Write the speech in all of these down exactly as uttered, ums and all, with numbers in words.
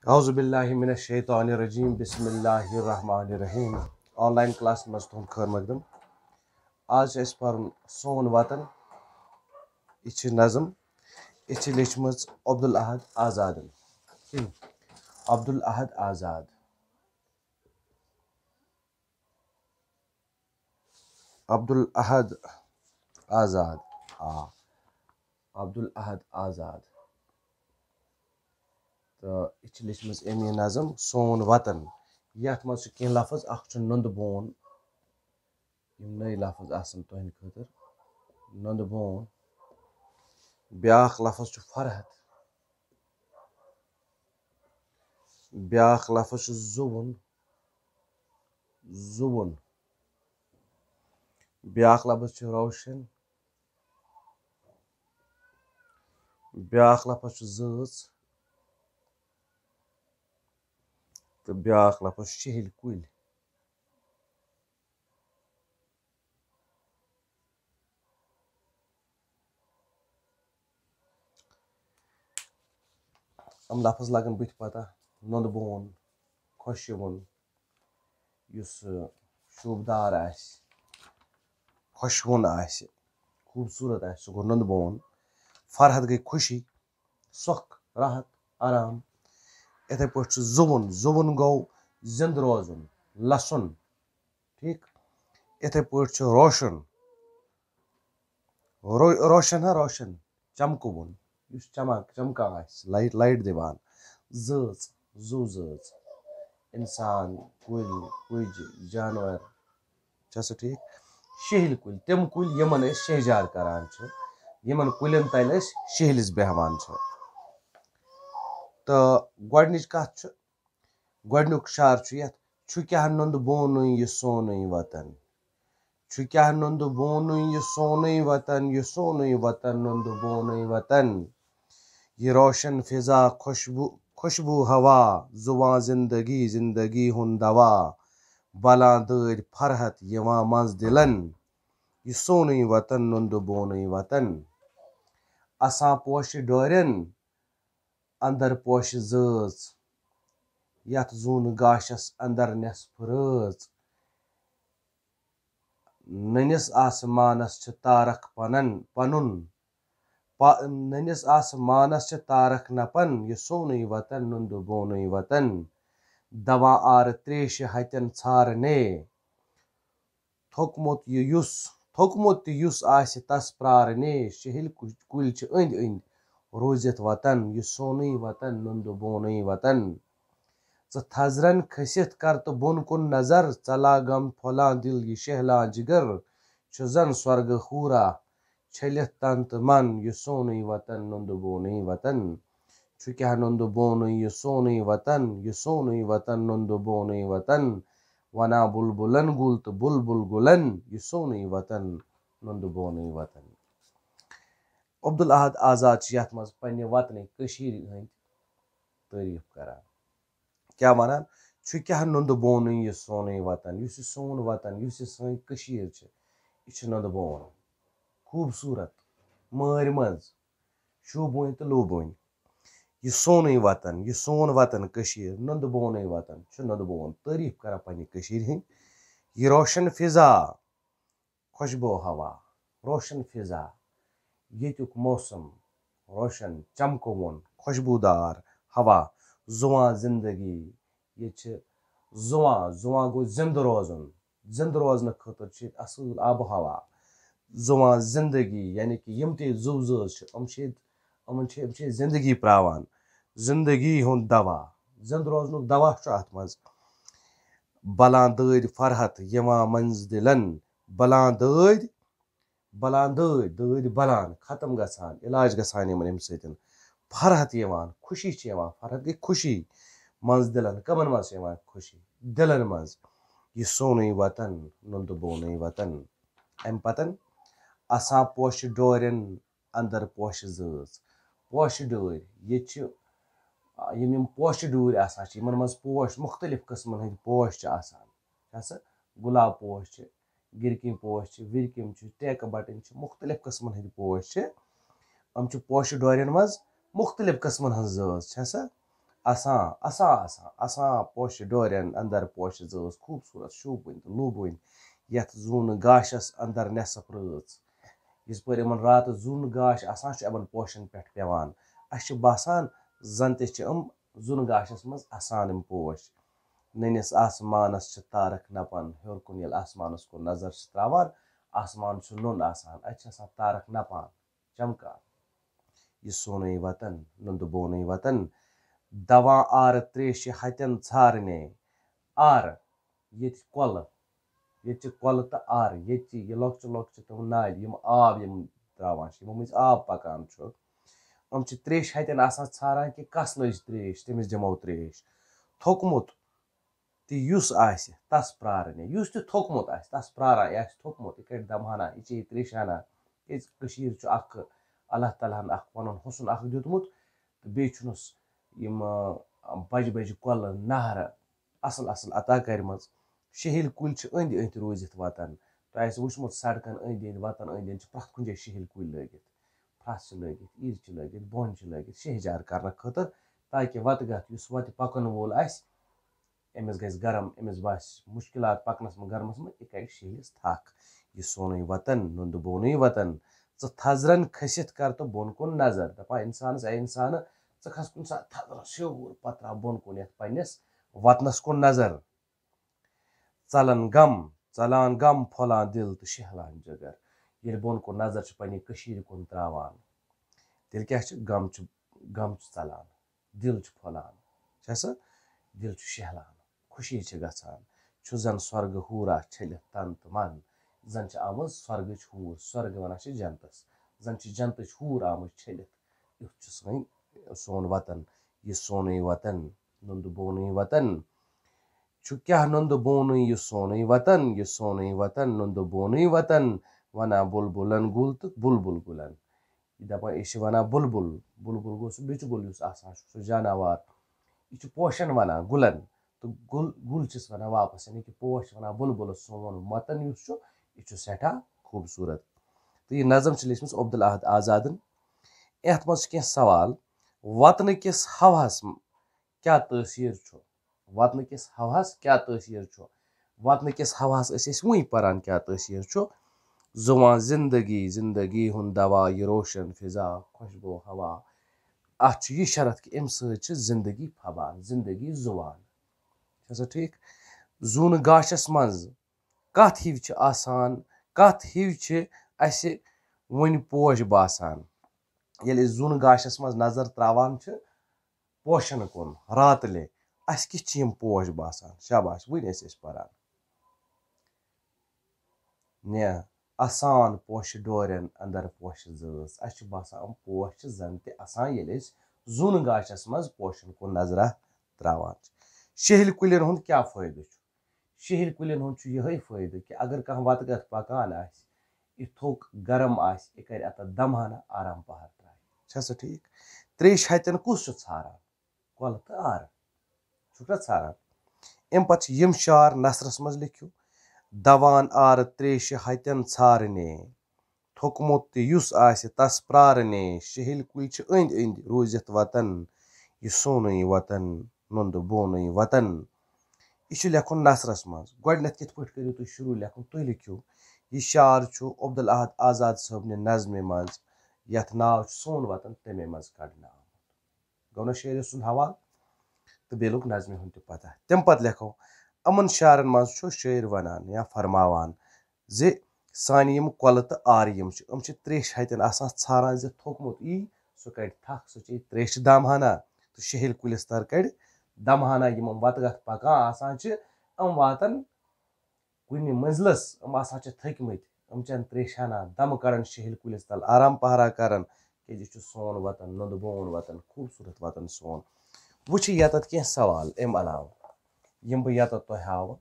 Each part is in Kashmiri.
اعوذ باللہ من الشیطان الرجیم، بسم اللہ الرحمن الرحیم۔ آن لائن کلاس منٛز تُہُنٛد خٲر مقدم۔ آز چھُ اَسہِ پَرُن سون وطن۔ یہِ چھِ نظم، یہِ چھِ لیٚچھمٕژ عبدالاحد آزادن۔ عبدالاحد آزاد۔ عبدالاحد آزاد۔ آ، عبدالاحد آزاد۔ تہٕ یہِ چھِ لیٚچھمٕژ أمۍ یہِ نظم سون وطن۔ یَتھ منٛز چھِ کینٛہہ لفظ، اَکھ چھُ نُنٛدٕ بون، یِم نٔے لفظ آسَن تُہٕنٛدِ خٲطرٕ۔ نُنٛدٕ بون۔ بیٛاکھ لفظ چھُ فرحت۔ بیٛاکھ لفظ چھُ زُوُن۔ زُوُن۔ بیٛاکھ لفظ چھُ روشن۔ بیٛاکھ لفظ چھُ زٲژ۔ تہٕ بیٛاکھ لفظ چھُ شِہِلۍ کُلۍ۔ یِم لفظ لگن بٕتھِ پتہ۔ نُنٛدٕ بون، خۄشوُن، یُس، ٲ، شوٗبدار آسہِ، خۄشوُن آسہِ، خوٗبصوٗرت آسہِ، سُہ گوٚو نُنٛدٕ بون۔ فرحت گٔے خوشی، سۄکھ، راحت، آرام۔ یِتھَے پٲٹھۍ چھُ زُوُن، زُوُن گوٚو زِنٛدٕ روزُن، لَسُن۔ ٹھیٖک۔ یِتھَے پٲٹھۍ چھُ روشن۔ رو-، روشن ہا روشن، چمکوُن، یُس چمک، چمکان آسہِ، لایٹ، لایٹ دِوان۔ زٲژ، زُو زٲژ۔ اِنسان، کُلۍ، کُج، جانور۔ چھا سا ٹھیٖک؟ شِہِلۍ کُلۍ، تِم کُلۍ یِمن أسۍ شہجار کران چھِ، یِمن کُلٮ۪ن تلہِ أسۍ شِہلِس بیٚہوان چھِ۔ تہٕ گۄڈٕنِچ کتھ چھِ، گۄڈٕنیُک شعر چھُ یتھ، چھُ کیٛاہ نُنٛدٕ بونُے یہِ سونُے وطن؟ چھُ کیٛاہ نُنٛدٕ بونُے یہِ سونُے وطن، یہِ سونُے وطن، نُنٛدٕ بونُے وطن؟ یہِ روشن فضا، خوشبو، خوشبو ہوا، زُوان زندگی، زندگی ہُنٛد دوا، بلان دٲدۍ فرحت یِوان منٛز دِلن۔ یہِ سونُے وطن، نُنٛدٕ بونُے وطن۔ اسان پوشہِ ڈورٮ۪ن، اندر پوشہِ زٲژ، یتھ زوٗنہٕ گاشس اندر نٮ۪صف رٲژ۔ نٔنِس آسمانس چھِ تارک پنن، پنُن۔ پا-، نٔنِس آسمانس چھِ تارک نپن، یہِ سونُے وطن، نُنٛدٕ بونُے وطن۔ دوا آرٕ تریشہِ ہتٮ۪ن ژھارنے۔ تھوٚکمُت یہِ یُس، تھوٚکمُت تہِ یُس آسہِ تس پرارنے۔ شِہِلۍ کُ-، کُلۍ چھِ أنٛدۍ أنٛدۍ روٗزِتھ وطن، یہِ سونُے وطن، نُنٛدٕ بونُے وطن۔ ژٕ تھزرن کھٔسِتھ کر تہٕ بۄن کُن نظر، ژلاگم پھۄلان دِل یہِ شہلان جگر، چھُ زن سۄرگہٕ حورا چھٔلِتھ تن تہٕ من، یہِ سونُے وطن، نُنٛدٕ بونُے وطن۔ چھُ کیٛاہ نُنٛدٕ بونُے یہِ سونُے وطن، یہِ سونُے وطن، نُنٛدٕ بونُے وطن۔ ونان بُلبُلن گُل تہٕ بُلبُل گُلن، یہِ سونُے وطن، نُنٛدٕ بونُے وطن۔ عبدالاحد آزاد چھُ یتھ منٛز پننہِ وطنٕکۍ، کٔشیٖرِ ہٕنٛدۍ تعریٖف کران۔ کیٛاہ ونان؟ چھُ کیٛاہ نُنٛدٕ بونُے یہِ سونُے وطن، یُس یہِ سون وطن، یُس یہِ سٲنۍ کٔشیٖر چھِ، یہِ چھِ نُنٛدٕ بون، خوٗبصوٗرت، مٲرۍ منٛز، شوٗبوٕنۍ تہٕ لوٗبوٕنۍ۔ یہِ سونُے وطن، یہِ سون وطن کٔشیٖر، نُنٛدٕ بونُے وطن، چھُ نُنٛدٕ بون۔ تعریٖف کران پننہِ کٔشیٖرِ ہٕنٛدۍ۔ یہِ روشن فضا، خوشبو ہوا، روشن فضا، ییٚتیُک موسم، روشن چمکوُن، خوشبودار ہوا، زُوان زندگی۔ ییٚتہِ چھِ زُوان، زُوان گوٚو زِندٕ روزُن۔ زِندٕ روزنہٕ خٲطرٕ چھِ ییٚتہِ اَصٕل آب و ہوا۔ زُوان زندگی، یعنی کہِ یِم تہِ ییٚتہِ زُو زٲژ چھِ، یِم چھِ ییٚتہِ، یِمَن چھِ، یِم چھِ ییٚتہِ زندگی پراوان۔ زندگی ہُنٛد دوا، زِندٕ روزنُک دوا چھُ اَتھ منٛز۔ بلان دٲدۍ فرحت یِوان منٛز دِلن۔ بلان دٲدۍ، بلان دٲدۍ، دٲدۍ بلان، ختم گژھان، علاج گژھان یِمن اَمہِ سۭتۍ۔ فرحت یِوان، خوشی چھِ یِوان، فرحت گٔے خوشی منٛز دِلن۔ کمن منٛز چھِ یِوان خوشی؟ دِلن منٛز۔ یہِ سونُے وطن، نُنٛدٕ بونُے وطن۔ اَمہِ پتن آسان پوشہِ ڈورٮ۪ن اندر پوشہِ زٲژ۔ پوشہِ ڈٲرۍ، ییٚتہِ چھِ، آ، یِم، یِم پوشہِ ڈوٗرۍ آسان چھِ، یِمن منٛز پوش، مُختٔلِف قٕسمن ہٕنٛدۍ پوش چھِ آسان۔ چھا سا؟ گۄلاب پوش چھِ، گِرکِنۍ پوش چھِ، وِرکِم چھِ، ٹیکہٕ بٹٕنۍ چھِ، مُختٔلِف قٕسمن ہٕنٛدۍ پوش چھِ۔ یِم چھِ پوشہِ ڈورٮ۪ن منٛز مُختٔلِف قٕسمن ہٕنٛز زٲژ، چھا سا؟ آسان، آسان، آسان، آسان پوشہِ ڈورٮ۪ن اندر پوشہِ زٲژ، خوٗبصوٗرت شوٗبوٕنۍ تہٕ لوٗبوٕنۍ، یَتھ زوٗنہٕ گاشَس اندر نٮ۪صٕف رٲژ۔ یِژ پٲرۍ یِمَن راتَس زوٗنہٕ گاش آسان چھُ یِمَن پوشَن پٮ۪ٹھ پٮ۪وان، اَسہِ چھُ باسان زَن تہِ چھِ یِم زوٗنہٕ گاشَس منٛز آسان یِم پوش۔ نٔنِس آسمانَس چھِ تارَک نَپان، ہیوٚر کُن ییٚلہِ آسمانَس کُن نظر چھِ ترٛاوان، آسمان چھُ نوٚن آسان، اَتہِ چھِ آسان تارَک نَپان، چمکان۔ یہِ سونُے وطن، نُندٕ بونُے وطن، دوا آرٕ تریشہِ ہتٮ۪ن ژھارنے۔ آرٕ، ییٚتہِ کۄلہٕ، ییٚتہِ چھِ کۄلہٕ تہٕ آرٕ، ییٚتہِ چھِ یہِ لۄکچہِ لۄکچہِ تِم نالہِ، یِم آب یِم ترٛاوان چھِ، یِمو مٔنٛزۍ آب پکان چھُ۔ یِم چھِ تریشہِ ہتٮ۪ن آسان ژھاران کہِ کس لٔج تریش، تٔمِس دِمو تریش۔ تھوٚکمُت تہِ یُس آسہِ، تس پرارنہِ۔ یُس تہِ تھوٚکمُت آسہِ، تس پراران، یہِ آسہِ تھوٚکمُت، یہِ کَڑِ دمہٕ ہنا، یہِ چیٚیہِ تریشہِ ہنا۔ کیٛازِ کٔشیٖر چھُ اکھ اللہ تعالیٰ ہن اکھ پنُن حُسن اکھ دیُتمُت، تہٕ بیٚیہِ چھُنس یِم، آ، بجہِ بجہِ کۄلہٕ، نہرٕ اصل اصل عطا کٔرمٕژ۔ شیہِلۍ کُلۍ چھِ أنٛدۍ أنٛدۍ روٗزِتھ وطن۔ تۄہہِ آسہِ وٕچھمُت سڑکن أنٛدۍ أنٛدۍ، وطن أنٛدۍ أنٛدۍ چھِ پرٛٮ۪تھ کُنہِ جایہِ شیہِلۍ کُلۍ لٲگِتھ۔ پھرٛس چھِ لٲگِتھ، عیٖد چھِ لٲگِتھ، بۄن چھِ لٲگِتھ، شیہجار کرنہٕ خٲطرٕ، تاکہِ وتہٕ گتھ یُس وتہِ پکن وول آسہِ، أمِس گژھِ گرم، أمِس باسہِ مُشکِلات پکنس منٛز گرمس منٛز، یہِ کرِ شیہلِس تھکھ۔ یہِ سونُے وطن، نُندٕ بونُے وطن۔ ژٕ تھزرن کھٔسِتھ کر تہٕ بۄن کُن نظر۔ دپان انسانس، اے انسانہٕ، ژٕ کھس کُنہِ ساتہٕ تھزرس ہیوٚر، پتہٕ تراو بۄن کُن یتھ پننِس وطنس کُن نظر۔ ژلان غم، ژلان غم، پھۄلان دِل تہٕ شیہلان جگر۔ ییٚلہِ بۄن کُن نظر چھِ پننہِ کٔشیٖرِ کُن تراوان، تیٚلہِ کیٛاہ چھِ؟ غم چھُ، غم چھُ ژلان، دِل چھُ پھۄلان، چھا سا؟ دِل چھُ شیہلان، خوشی چھِ گژھان۔ چھُ زن سۄرگہٕ حوٗرا چھٔلِتھ تن تہٕ من، زن چھِ آمٕژ سۄرگٕچ حوٗر، سۄرگہٕ ونان چھِ جنتس، زن چھِ جنتٕچ حوٗر آمٕژ چھٔلِتھ۔ یُتھ چھُ سٲنۍ، سون وطن، یہِ سونُے وطن، نُندٕ بونُے وطن۔ چھُ کیٛاہ نُندٕ بونُے یہِ سونُے وطن، یہِ سونُے وطن، نُندٕ بونُے وطن، ونان بُلبُلن گُل تہٕ بُلبُل گُلن۔ یہِ دپان، یہِ چھِ ونان بُلبُل۔ بُلبُل گوٚو سُہ بیٚچہِ گُل یُس آسان چھُ، سُہ جاناوار۔ یہِ چھُ پوشن ونان، گُلن۔ تہٕ گُل، گُل چھِس ونان واپس، یعنی کہِ پوش چھِ ونان بُلبُلس۔ سون وطن یُس چھُ، یہِ چھُ سٮ۪ٹھاہ خوٗبصوٗرت۔ تہٕ یہِ نظم چھِ لیٖچھمٕژ عبدالاحد آزادن۔ یتھ منٛز چھِ کینٛہہ سوال۔ وطنہٕ کِس ہوہس کیٛاہ تٲثیٖر چھُ؟ وطنہٕ کِس ہوہَس کیٛاہ تٲثیٖر چھُ؟ وطنہٕ کِس ہوہَس ٲسۍ أسۍ وٕنۍ پَران کیٛاہ تٲثیٖر چھُ۔ زُوان زِندگی، زِندگی ہُنٛد دوا، یہِ روشن فضا، خۄشبو ہوا۔ اَتھ چھُ یہِ شرط کہِ اَمہِ سۭتۍ چھِ زِندگی پھبان، زِندگی زُوان۔ چھا سا ٹھیٖک؟ زوٗنہٕ گاشَس منٛز کَتھ ہِوۍ چھِ آسان، کَتھ ہِوۍ چھِ اَسہِ وٕنہِ پوش باسان؟ ییٚلہِ أسۍ زوٗنہٕ گاشَس منٛز نظر ترٛاوان چھِ، پوشن کُن راتلہِ، اَسہِ کِتھ چھِ یِم پوش باسان؟ شاباش، وٕنۍ ٲسۍ أسۍ پران۔ نیا، آسان پوشہِ ڈورٮ۪ن اندر پوشہِ زٲژ۔ اَسہِ چھُ باسان، یِم پوش چھِ زن تہِ آسان، ییٚلہِ أسۍ زوٗنہٕ گاشس منٛز پوشن کُن نظرہ تراوان چھِ۔ شیہلۍ کُلٮ۪ن ہُنٛد کیٛاہ فٲیدٕ چھُ؟ شیہلۍ کُلٮ۪ن ہُنٛد چھُ یِہوٚے فٲیدٕ کہِ اگر کانٛہہ وَتہٕ گَتھ پَکان آسہِ، یہِ تھوٚک گرم آسہِ، یہِ کَرِ اَتَتھ دَمہٕ ہنا آرام پَہر ترٛایہِ۔ چھا سا ٹھیٖک؟ تریشہِ ہَتٮ۪ن کُس چھُ ژھاران؟ کۄلہٕ تہٕ آرٕ۔ چھُکھ نا ژھاران؟ اَمہِ پَتہٕ چھِ یِم شعر نثرَس منٛز لیٚکھِو۔ دوان آرٕ تریشہِ ہَتٮ۪ن ژھارنے۔ تھوٚکمُت تہِ یُس آسہِ تس پرارنے، شہلۍ کُلۍ چھِ أنٛدۍ أنٛدۍ روٗزِتھ وطن، یہِ سونُے وطن، نُندٕ بونُے وطن۔ یہِ چھُ لیکھُن نثرس منٛز۔ گۄڈٕنیتھ کِتھ پٲٹھۍ کٔرِو تُہۍ شروع لیکھُن؟ تُہۍ لیکھِو، یہِ شعر چھُ عبدالاحد آزاد صٲبنہِ نظمہِ منٛز، یتھ ناو چھُ سون وطن، تمے منٛز کڑنہٕ آمُت۔ گوٚو نہ شٲعرٕ سُنٛد حوالہٕ تہٕ بیٚیہِ لوٚگ نظمہِ ہُنٛد تہِ پتہ۔ تمہِ پتہٕ لیکھو، یِمن شعرن منٛز چھُ شٲعر ونان یا فرماوان زِ سانہِ یِم کۄلہٕ تہٕ آرٕ یِم چھِ، یِم چھِ تریشہِ ہتٮ۪ن آسان ژھاران زِ تھوٚکمُت یی، سُہ کڑِ تھکھ، سُہ چیٚیہِ تریشہِ دامہٕ ہنا تہٕ شہلۍ کُلِس تر کڑِ دمہٕ ہنا۔ یِم یِم وتہٕ گتھ پکان آسان چھِ، یِم واتن کُنہِ منزلس، یِم آسان چھِ تھٔکۍ مٕتۍ، یِم چٮ۪ن تریشہِ ہنا، دمہٕ کڑان شہلۍ کُلِس تل، آرام پہرا کران، کیازِ یہِ چھُ سون وطن، نُندٕ بون وطن، خوٗبصوٗرت وطن سون۔ وۄنۍ چھِ یتتھ کینٛہہ سوال امہِ علاوٕ، یِم بہٕ یتتھ تۄہہِ ہاوٕ۔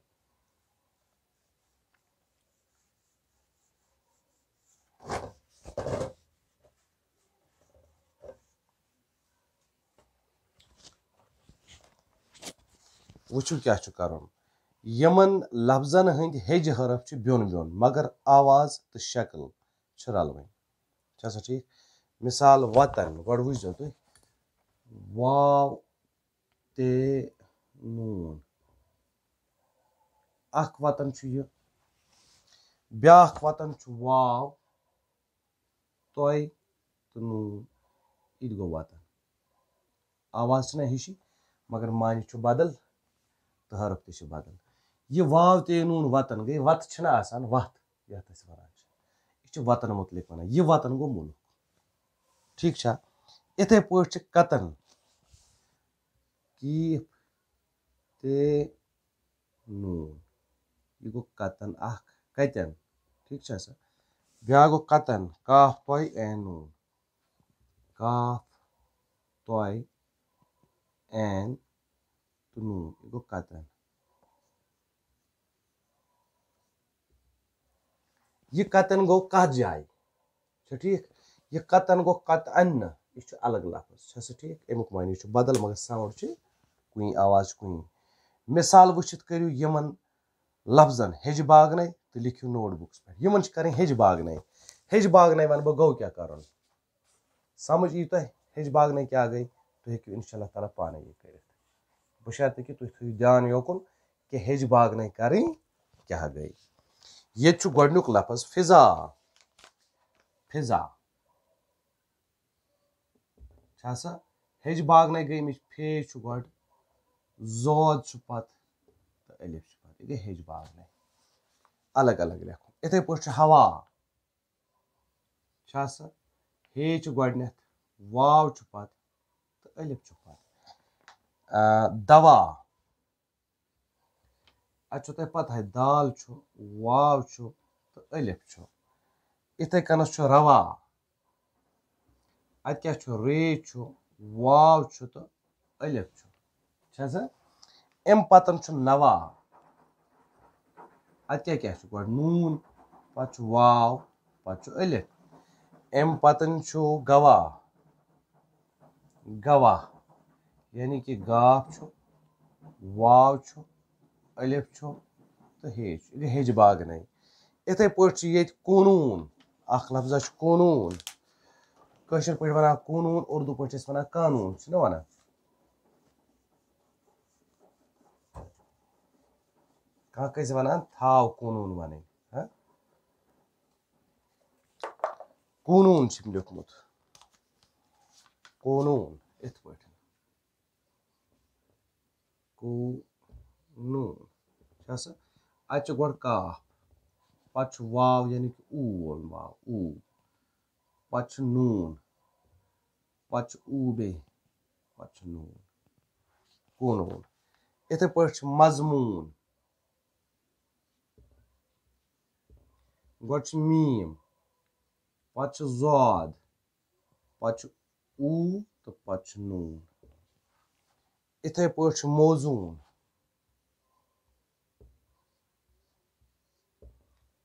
وٕچھِو کیٛاہ چھُ کرُن۔ یِمن لفظن ہٕنٛدۍ ہیٚجہِ حرف چھِ بیوٚن بیوٚن، مگر آواز تہٕ شکل چھِ رلوٕنۍ۔ چھا سا ٹھیٖک؟ مثال، وطن، گۄڈٕ وٕچھزیو تُہۍ، واو، تہٕ نوٗن۔ اکھ وطن چھُ یہِ، بیٛاکھ وطن چھُ واو، تۄہہِ تہٕ نوٗن۔ یہِ تہِ گوٚو وطن۔ آواز چھِنہ ہِشی، مگر معنی چھُ بدل تہٕ حرف تہِ چھِ بدل۔ یہِ واو تہٕ یہِ نوٗن وطن گٔے، وَتہٕ چھِنہ آسان، وَتھ یَتھ أسۍ وَنان چھِ، یہِ چھِ وطن مُتعلِق وَنان۔ یہِ وطن گوٚو مُلُک۔ ٹھیٖک چھا؟ یِتھَے پٲٹھۍ چھِ کَتَن، کیٖف تہٕ نوٗن۔ یہِ گوٚو کَتَن اَکھ، کَتٮ۪ن۔ ٹھیٖک چھا سا؟ بیٛاکھ گوٚو کَتَن، کاف تۄہہِ عین نوٗن۔ کاف تۄہہِ عین تہٕ نوٗن۔ یہِ گوٚو کَتَن۔ یہِ کَتَن گوٚو کَتھ جایہِ؟ چھا ٹھیٖک؟ یہِ کَتَن گوٚو کَتَن نہٕ، یہِ چھُ الگ لفظ، چھا سا ٹھیٖک؟ اَمیُک معنی چھُ بدل، مگر sound چھِ کُنی، آواز چھِ کُنی۔ مثال وٕچھِتھ کٔرِو یِمَن لفظن ہیٚجہِ باغنَے تہٕ لیکھِو note bookس پٮ۪ٹھ۔ یِمَن چھِ کَرٕنۍ ہیٚجہِ باغنَے۔ ہیٚجہِ باغنَے وَنہٕ بہٕ گوٚو کیٛاہ کَرُن۔ سمجھ یی تۄہہِ ہیٚجہِ باغنَے کیٛاہ گٔے، تُہۍ ہیٚکِو اِنشاء اللہ تعالیٰ پانَے یہِ کٔرِتھ۔ بشرطیکہِ تُہۍ تھٲیِو دیان یوکُن کہِ ہیٚجہِ باغنَے کَرٕنۍ کیٛاہ گٔے۔ ییٚتہِ چھُ گۄڈٕنیُک لفظ فضا۔ فضا۔ چھا سا؟ ہیٚجہِ باغنَے گٔے، أمِچ فے چھُ گۄڈٕ، زود چھُ پَتہٕ تہٕ الف چھُ پَتہٕ۔ یہِ گٔے ہیٚجہِ باغنَے۔ الگ الگ لیکھُن۔ یِتھَے پٲٹھۍ چھُ ہوا۔ چھا سا؟ ہے چھُ گۄڈٕنٮ۪تھ، واو چھُ پَتہٕ تہٕ الف چھُ پَتہٕ۔ آ، دوا۔ اَتہِ چھُ تۄہہِ پَتہٕ ہَے، دال چھُ، واو چھُ تہٕ الف چھُ۔ یِتھَے کٔنَس چھُ روا۔ اَتہِ کیٛاہ چھُ؟ رے چھُ، واو چھُ تہٕ الف چھُ۔ چھا سا؟ اَمہِ پَتَن چھُ نوا۔ اَتہِ کیٛاہ کیٛاہ چھُ؟ گۄڈٕ نوٗن، پَتہٕ چھُ واو، پَتہٕ چھُ الف۔ اَمہِ پَتَن چھُ گواہ۔ گواہ، یعنی کہِ گاف چھُ، واو چھُ، الف چھُ تہٕ ہے چھُ۔ یہِ گٔے ہیٚجہِ باغنَے۔ یِتھَے پٲٹھۍ چھُ ییٚتہِ قونوٗن، اَکھ لفظہ چھُ قونوٗن۔ کٲشِر پٲٹھۍ وَنان قونوٗن، اُردو پٲٹھۍ چھِ أسۍ وَنان قانوٗن، چھِنہ وَنان؟ کانٛہہ کٲنٛسہِ وَنان تھاو قونوٗن وَنٕنۍ، ہہ؟ قونوٗن چھُ لیوٚکھمُت۔ قونوٗن، یِتھ پٲٹھۍ۔ قونوٗن۔ چھا سا؟ اَتہِ چھُ گۄڈٕ کاف، پَتہٕ چھُ واو، یعنی کہِ اوٗ وول واو، اوٗ۔ پَتہٕ چھُ نوٗن، پَتہٕ چھُ اوٗ بیٚیہِ، پَتہٕ چھُ نوٗن۔ قونوٗن۔ یِتھَے پٲٹھۍ چھُ مضموٗن۔ گۄڈٕ چھُ میٖم، پَتہٕ چھُ زاد، پَتہٕ چھُ اوٗ تہٕ پَتہٕ چھُ نوٗن۔ یِتھَے پٲٹھۍ چھُ موزوٗن۔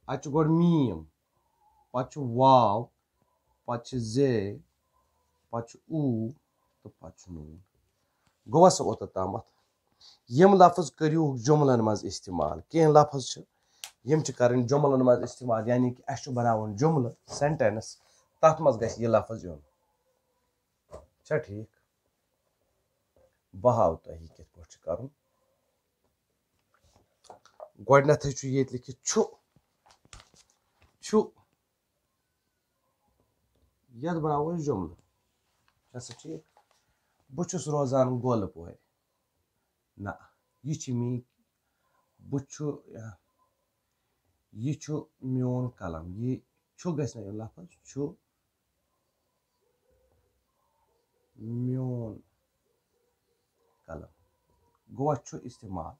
اَتہِ چھُ گۄڈٕ میٖم، پَتہٕ چھُ واو، پَتہٕ چھِ زے، پَتہٕ چھُ اوٗ تہٕ پَتہٕ چھُ نوٗن۔ گوٚوا سا اوٚتَتھ تامَتھ؟ یِم لفظ کٔرِو جُملَن منٛز استعمال۔ کینٛہہ لفظ چھِ، یِم چھِ کَرٕنۍ جُملَن منٛز استعمال، یعنی کہِ اَسہِ چھُ بَناوُن جُملہٕ، sentence، تَتھ منٛز گژھِ یہِ لفظ یُن۔ چھا ٹھیٖک؟ بہٕ ہاوٕ تۄہہِ یہِ کِتھ پٲٹھۍ چھُ کَرُن۔ گۄڈٕنٮ۪تھٕے چھُ ییٚتہِ لیکھِتھ چھُ، چھُ۔ یَتھ بَناوو أسۍ جُملہٕ۔ چھا سا ٹھیٖک؟ بہٕ چھُس روزان گۄلہٕ پورِ۔ نہ، یہِ چھِ میٛٲنۍ، بہٕ چھُ، یہِ چھُ میون قلم۔ یہِ چھُ گژھِ نہ یُن لفظ، چھُ میون قلم۔ گوٚو اَتھ چھُ استعمال۔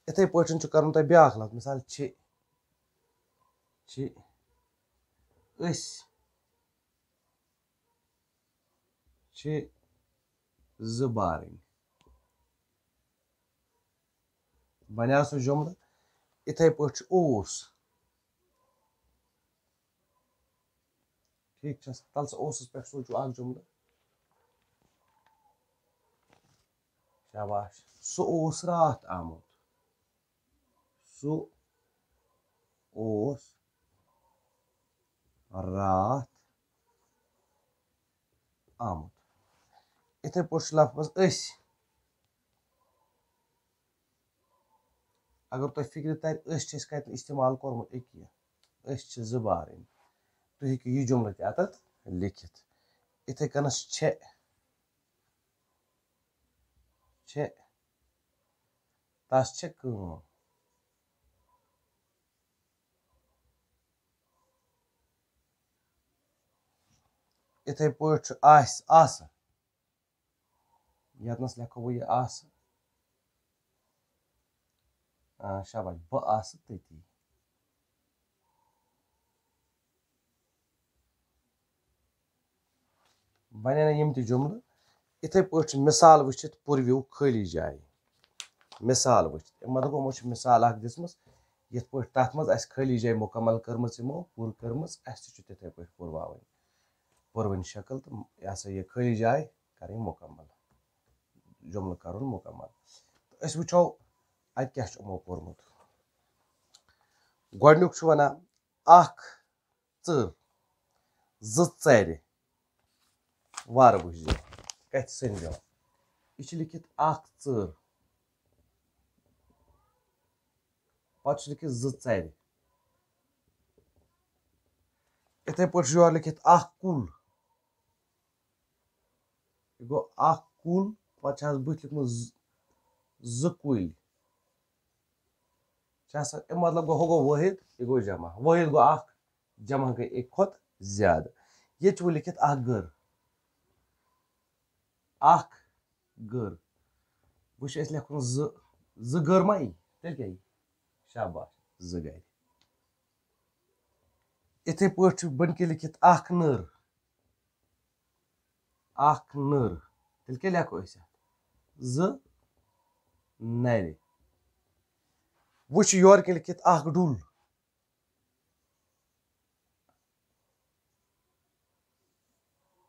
یِتھَے پٲٹھۍ چھُ کَرُن تۄہہِ بیٛاکھ لفظ، مثال چھِ، چھِ، أسۍ چھِ زٕ بارٕنۍ۔ بنیٛاو سُہ جملہٕ۔ یِتھَے پٲٹھۍ چھُ اوس۔ ٹھیٖک چھا؟ تَلہٕ سا اوسُس پٮ۪ٹھ سوٗنٛچِو اَکھ جملہٕ۔ شاباش۔ سُہ اوس راتھ آمُت۔ سُہ اوس راتھ آمُت۔ یِتھَے پٲٹھۍ چھُ لفظ أسۍ۔ اگر تۄہہِ فِکرِ تَرِ، أسۍ چھِ اَسہِ کَتہِ استعمال کوٚرمُت أکیاہ، أسۍ چھِ زٕ بارٕنۍ۔ تُہۍ ہیٚکِو یہِ جملہٕ تہِ اَتَتھ لیٚکھِتھ۔ یِتھَے کٔنَس چھےٚ، چھےٚ، تَس چھےٚ کٲم۔ یِتھَے پٲٹھۍ چھُ آسہِ، آسہٕ۔ ییٚتنَس لیکھو بہٕ یہِ آسہٕ۔ آ، شاباش، بہٕ آسہٕ تٔتی۔ بَنیٚن یِم تہِ جملہٕ۔ یِتھَے پٲٹھۍ چھِ مِثال وٕچھِتھ پُروِو خٲلی جایہِ۔ مِثال وٕچھِتھ۔ اَمہِ مطلب یِمو چھِ مِثال اَکھ دِژمٕژ، یِتھ پٲٹھۍ تَتھ منٛز اَسہِ خٲلی جایہِ مُکمل کٔرمٕژ، یِمو پوٗرٕ کٔرمٕژ، اَسہِ تہِ چھُ تِتھَے پٲٹھۍ پُرواوٕنۍ، پُروٕنۍ شکل تہٕ یہِ ہسا یہِ خٲلی جاے کَرٕنۍ مُکمل، جملہٕ کَرُن مُکمل۔ تہٕ أسۍ وٕچھو اَتہِ کیٛاہ چھُ یِمو پوٚرمُت۔ گۄڈٕنیُک چھُ وَنان، اَکھ ژٕر، زٕ ژَرِ۔ وارٕ وٕچھزیو، کَتھِ سٔنزیو۔ یہِ چھِ لیٚکھِتھ اَکھ ژٕر، پَتہٕ چھُ لیٚکھِتھ زٕ ژَرِ۔ یِتھَے پٲٹھۍ چھُ یورٕ لیٚکھِتھ اَکھ کُل۔ یہِ گوٚو اَکھ کُل، پَتہٕ چھِ حظ بٕتھِ لیوٚکھمُت زٕ، زٕ کُلۍ۔ چھِ آسان، اَمیُک مطلب گوٚو، ہُہ گوٚو وٲحد، یہِ گوٚو جمع۔ وٲحد گوٚو اَکھ، جمع گٔے اَکہِ کھۄتہٕ زیادٕ۔ ییٚتہِ چھُ وۄنۍ لیٚکھِتھ اَکھ گٔر۔ اَکھ گٔر۔ وۄنۍ چھُ اَسہِ لیٚکھُن زٕ، زٕ گٔر ما یی؟ تیٚلہِ کیٛاہ یی؟ شاباش، زٕ گَرِ۔ یِتھَے پٲٹھۍ چھُ بٔنۍ کِنۍ لیٚکھِتھ اَکھ نٔر۔ اَکھ نٔر۔ تیٚلہِ کیٛاہ لیکھو أسۍ اَتھ؟ زٕ نَرِ۔ وۄنۍ چھُ یورٕ کِنۍ لیٚکھِتھ اَکھ ڈُل۔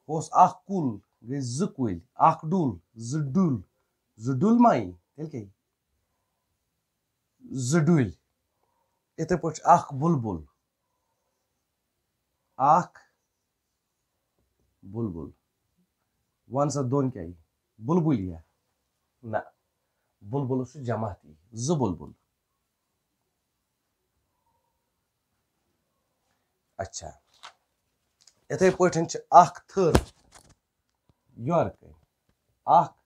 اوس اَکھ کُل، گٔے زٕ کُلۍ، اَکھ ڈُل، زٕ ڈُل، زٕ ڈُل ما یی؟ تیٚلہِ کیٛاہ یی؟ زٕ ڈُلۍ۔ یِتھَے پٲٹھۍ چھُ اَکھ بُلبُل۔ اَکھ بُلبُل۔ وَن سا دۄن کیٛاہ یی؟ بُلبُل یِیا؟ نہ۔ بُلبُلَس چھُ جمع تہِ یی۔ زٕ بُلبُل۔ اچھا۔ یِتھَے پٲٹھۍ چھِ اَکھ تھٔر۔ یورٕ کَنۍ۔ اَکھ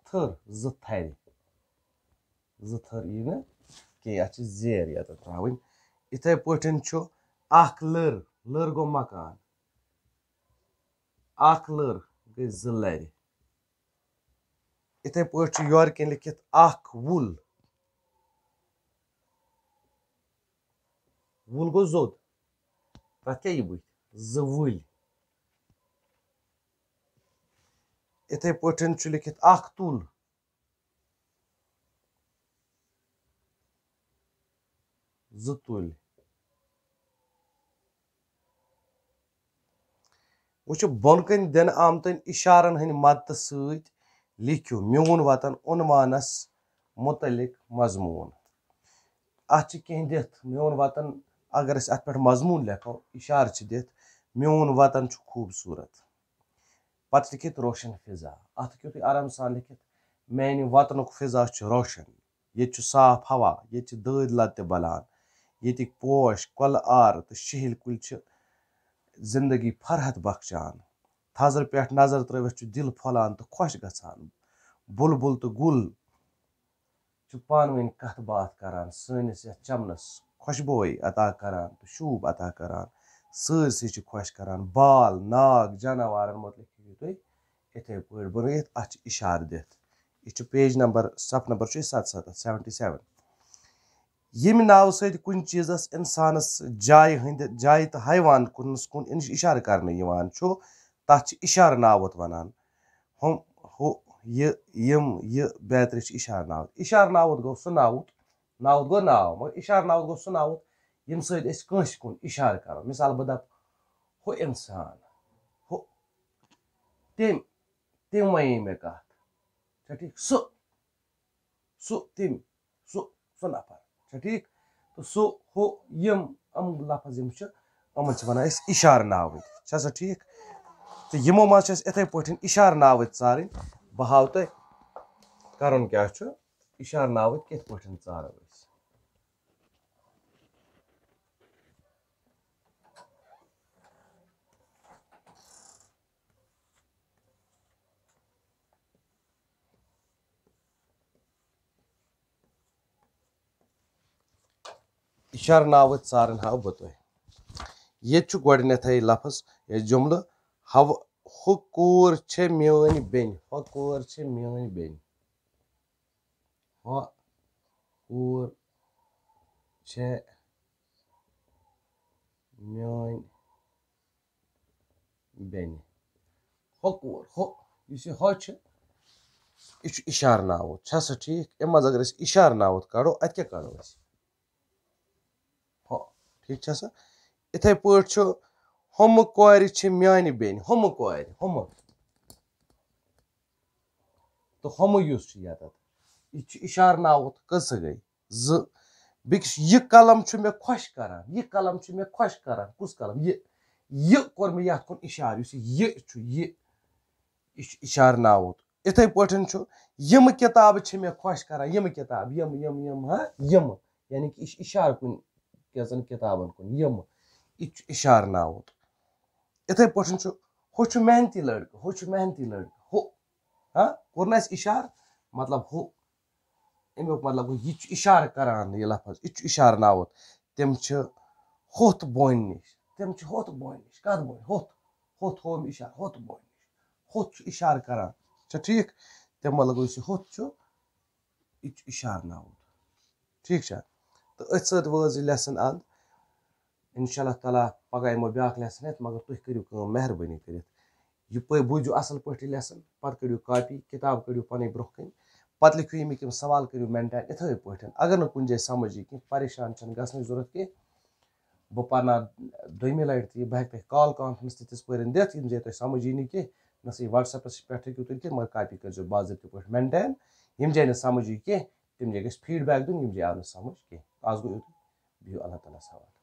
تھٔر، زٕ تھرِ۔ زٕ تھٔر یی نہٕ کینٛہہ، اَتھ چھِ زیر ییٚتٮ۪تھ ترٛاوٕنۍ۔ یِتھَے پٲٹھۍ چھُ اَکھ لٔر، لٔر گوٚو مکان۔ اَکھ لٔر گٔے زٕ لَرِ۔ یِتھَے پٲٹھۍ چھُ یورٕ کِنۍ لیٚکھِتھ اَکھ وُل۔ وُل گوٚو زوٚد۔ تَتھ کیٛاہ یی بٕتھِ؟ زٕ وُلۍ۔ یِتھَے پٲٹھۍ چھُ لیٚکھِتھ اَکھ تُل۔ زٕ تُلۍ۔ وٕچھِو، بۄن کَنۍ دِنہٕ آمتٮ۪ن اِشارَن ہٕنٛدِ مدتہٕ سۭتۍ لیکھِو میون وطن عنوانَس مُتعلِق مضموٗن۔ اَتھ چھِ کینٛہہ دِتھ، میون وطن، اگر أسۍ اَتھ پٮ۪ٹھ مضموٗن لیکھو، اِشارٕ چھِ دِتھ، میون وطن چھُ خوٗبصوٗرت۔ پَتہٕ لیکھِتھ روشن فضا۔ اَتھ ہیٚکِو تُہۍ آرام سان لیکھِتھ، میٛانہِ وطنُک فضا چھُ روشن۔ ییٚتہِ چھُ صاف ہوا، ییٚتہِ چھِ دٲدۍ لَتہِ بَلان، ییٚتِکۍ پوش، کۄلہٕ آرٕ تہٕ شِہِلۍ کُلۍ چھِ زِندگی فرحت بخشان۔ تھزرٕ پٮ۪ٹھ نظر ترٲوِتھ چھُ دِل پھۄلان تہٕ خۄش گژھان۔ بُلبُل تہٕ گُل چھِ پانہٕ ؤنۍ کَتھ باتھ کران، سٲنِس یَتھ چَمنَس خۄشبوے عطا کران تہٕ شوٗب عطا کران۔ سٲرسٕے چھِ خۄش کران۔ بال، ناگ، جاناوارَن مُتعلِق ہیٚکِو تُہۍ یِتھَے پٲٹھۍ بَنٲیِتھ، اَتھ چھِ اِشارٕ دِتھ۔ یہِ چھُ page number، صفہٕ number چھُ یہِ ستستھ، seventy seven۔ ییٚمہِ ناوٕ سۭتۍ کُنہِ چیٖزَس اِنسانَس جایہِ ہٕنٛدِ، جایہِ تہٕ حیوان کُنَس کُن اِش-، اِشارٕ کرنہٕ یِوان چھُ، تَتھ چھِ اِشارٕ ناوُت وَنان۔ ہُم، ہُہ، یہِ، یِم، یہِ بیترِ چھِ اِشارٕ ناوُت۔ اِشارٕ ناوُت گوٚو سُہ ناوُت، ناوُت گوٚو ناو، مگر اِشارٕ ناوُت گوٚو سُہ ناوُت، ییٚمہِ سۭتۍ أسۍ کٲنٛسہِ کُن اِشارٕ کَرو۔ مِثال، بہٕ دَپہٕ، ہُہ اِنسان، ہُہ، تٔمۍ، تٔمۍ وَنے مےٚ کَتھ۔ چھا ٹھیٖک؟ سُہ، سُہ، تٔمۍ، سُہ، سُہ نفر۔ چھا ٹھیٖک؟ تہٕ سُہ، ہُہ، یِم، یِم لفظ یِم چھِ، یِمَن چھِ وَنان أسۍ اِشارٕ ناوٕتۍ۔ چھا سا ٹھیٖک؟ تہٕ یِمو منٛز چھِ اَسہِ یِتھَے پٲٹھۍ اِشارٕ ناوٕتۍ ژارٕنۍ۔ بہٕ ہاوٕ تۄہہِ کَرُن کیٛاہ چھُ۔ اِشارٕ ناوٕتۍ کِتھ پٲٹھۍ ژارو أسۍ؟ اِشارٕ ناوٕتۍ ژارن ہاو بہٕ تۄہہِ۔ ییٚتہِ چھُ گۄڈٕنیتھٕے لفظ یا جملہٕ، ہو-، ہُہ کوٗر چھےٚ میٲنۍ بیٚنہِ، ہۄ کوٗر چھےٚ میٲنۍ بیٚنہِ، ہۄ کوٗر چھےٚ میٲنۍ بیٚنہِ۔ ہۄ کوٗر، ہۄ، یُس یہِ ہۄ چھِ، یہِ چھُ اِشارٕ ناوُت۔ چھا سا ٹھیٖک؟ اَمہِ منٛز اگر أسۍ اِشارٕ ناوُت کَڑو، اَتہِ کیٛاہ کَڑو أسۍ؟ ہۄ۔ ٹھیٖک چھا سا؟ یِتھَے پٲٹھۍ چھُ، ہُمہٕ کورِ چھِ میٛانہِ بیٚنہِ، ہُمہٕ کورِ، ہُمہٕ۔ تہٕ ہُمہٕ یُس چھُ یَتَتھ، یہِ چھُ اِشارٕ ناوُت۔ کٔژ سا گٔے؟ زٕ۔ بیٚکِس، یہِ قلم چھُ مےٚ خۄش کران، یہِ قلم چھُ مےٚ خۄش کران۔ کُس قلم؟ یہِ۔ یہِ کوٚر مےٚ یَتھ کُن اِشارٕ، یُس یہِ یہِ چھُ، یہِ۔ یہِ چھُ اِشارٕ ناوُت۔ یِتھَے پٲٹھۍ چھُ، یِم کِتابہٕ چھِ مےٚ خۄش کران، یِم کِتابہٕ، یِم، یِم، یِم، ہا، یِم۔ یعنی کہِ یہِ چھُ اِشارٕ کُنہِ کینٛژَن کِتابَن کُن، یِم۔ یہِ چھُ اِشارٕ ناوُت۔ یِتھَے پٲٹھۍ چھُ، ہُہ چھُ محنتی لٔڑکہٕ، ہُہ چھُ محنتی لٔڑکہٕ، ہُہ۔ ہا، کوٚر نہٕ اَسہِ اِشارٕ؟ مطلب ہُہ۔ اَمیُک مطلب گوٚو، یہِ چھُ اِشارٕ کران، یہِ لفظ، یہِ چھُ اِشارٕ ناوُت۔ تِم چھِ ہوٚتھ بونہِ نِش، تِم چھِ ہوٚتھ بونہِ نِش۔ کَتھ بونہِ؟ ہوٚتھ۔ ہوٚتھ ہوو مےٚ اِشارٕ، ہوٚتھ بونہِ نِش۔ ہوٚتھ چھُ اِشارٕ کران۔ چھا ٹھیٖک؟ تَمہِ مطلب گوٚو، یُس یہِ ہوٚتھ چھُ، یہِ تہِ چھُ اِشارٕ ناوُت۔ ٹھیٖک چھا؟ تہٕ أتھۍ سۭتۍ وٲژ یہِ lesson اَنٛد۔ اِنشاء اللہ تعالیٰ پَگاہ یِمو بیٛاکھ lesson ہٮ۪تھ، مگر تُہۍ کٔرِو کٲم مہربٲنی کٔرِتھ۔ یہِ پٔرۍ، بوٗزِو اَصٕل پٲٹھۍ یہِ lesson، پَتہٕ کٔڑِو copy، کِتاب کٔڑِو پَنٕنۍ برٛونٛہہ کَنہِ، پَتہٕ لیکھِو ییٚمِکۍ یِم سوال کٔرِو maintain یِتھَے پٲٹھۍ۔ اگر نہٕ کُنہِ جایہِ سَمٕجھ یی کینٛہہ، پریشان چھَنہٕ گژھنٕچ ضوٚرَتھ کینٛہہ۔ بہٕ پَرناو دوٚیمہِ لَٹہِ تہِ یہِ، بہٕ ہٮ۪کہٕ تۄہہِ call conference تہِ تِژھ پٲرۍ دِتھ، یِم جایہِ تۄہہِ سَمٕجھ یی نہٕ کینٛہہ، نہ سا یہِ WhatsApp-س پٮ۪ٹھ ہیٚکِو تُہۍ کینٛہہ، مگر copy کٔرۍزیو باضٲبطہٕ پٲٹھۍ maintain۔ یِم جایہِ نہٕ سَمٕجھ یی کینٛہہ، تِم جایہِ گژھِ feedback دیُن، یِم جایہِ آو نہٕ سَمٕجھ کینٛہہ۔ آز گوٚو یُتُے، بِہِو اللہ تعالیٰ ہَس حوالہٕ۔